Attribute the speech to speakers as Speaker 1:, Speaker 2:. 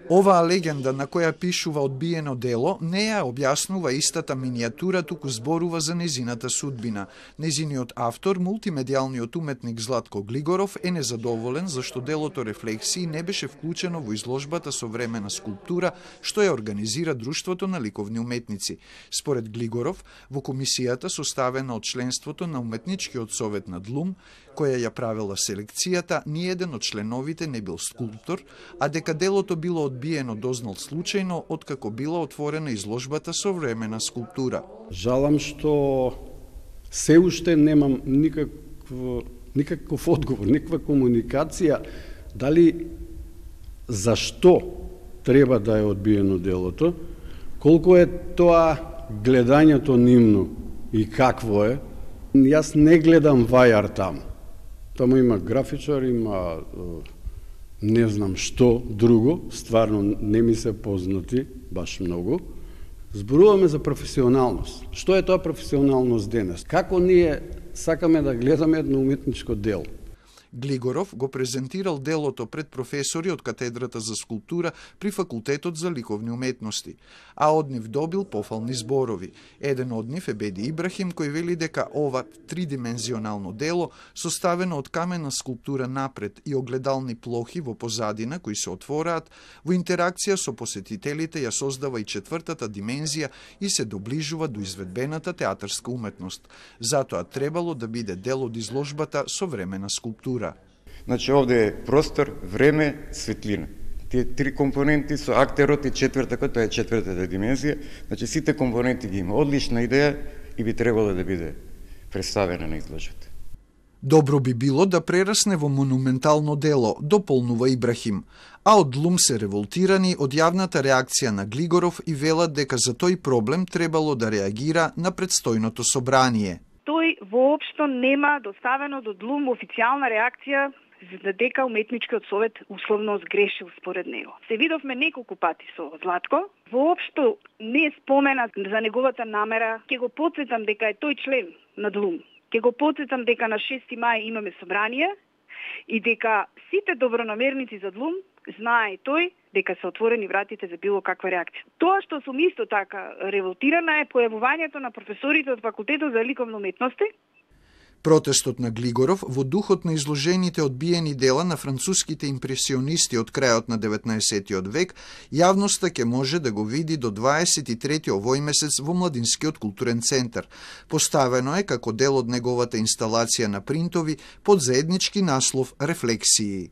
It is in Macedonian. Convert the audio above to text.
Speaker 1: Оваа легенда на која пишува одбиено дело не ја објаснува истата минијатура, туку зборува за незината судбина. Незиниот автор, мултимедијалниот уметник Златко Глигоров, е незадоволен зашто делото Рефлексии не беше вклучено во изложбата Современа скулптура, што ја организира Друштвото на ликовни уметници. Според Глигоров, во комисијата составена од членството на Уметничкиот совет на ДЛУМ, која ја правела селекцијата, ниеден од членовите не бил скулптор, а дека делото било одбиено дознал случајно откако била отворена изложбата Современа скулптура.
Speaker 2: Жалам што се уште немам никаков одговор, никаква комуникација дали зашто треба да е одбиено делото, колку е тоа гледањето нивно и какво е. Јас не гледам вајар таму. Таму има графичар, има не знам што друго, стварно не ми се познати баш многу. Зборуваме за професионалност. Што е тоа професионалност денес? Како ние сакаме да гледаме едно уметничко дело?
Speaker 1: Глигоров го презентирал делото пред професори од катедрата за скулптура при Факултетот за ликовни уметности, а од нив добил пофални зборови. Еден од нив е Беди Ибрахим, кој вели дека ова тридимензионално дело, составено од камена скулптура напред и огледални плохи во позадина кои се отвораат, во интеракција со посетителите ја создава и четвртата димензија и се доближува до изведбената театарска уметност. Затоа требало да биде дел од изложбата Современа скулптура.
Speaker 3: Значи, овде е простор, време, светлина. Тие три компоненти со актерот и четвртакот, тоа е четвртата димензија. Значи, сите компоненти ги има. Одлична идеја и би требало да биде представена на изложбата.
Speaker 1: Добро би било да прерасне во монументално дело, дополнува Ибрахим, а од ДЛУМ се револтирани од јавната реакција на Глигоров и велат дека за тој проблем требало да реагира на предстојното собрание.
Speaker 4: Тој воопшто нема доставено до ДЛУМ официјална реакција за дека уметничкиот совет условно сгрешил според него. Се видовме неколку пати со Златко, воопшто не спомена за неговата намера. Ќе го потсетам дека е тој член на ДЛУМ. Ќе го потсетам дека на 6 мај имаме собрание и дека сите добронамерници за ДЛУМ знае тој дека се отворени вратите за било каква реакција. Тоа што сум исто така револтирана е појавувањето на професорите од Факултетот за ликовни уметности.
Speaker 1: Протестот на Глигоров во духот на изложените одбиени дела на француските импресионисти од крајот на 19. век, јавноста ќе може да го види до 23. овој месец во Младинскиот културен центар. Поставено е како дел од неговата инсталација на принтови под заеднички наслов Рефлексии.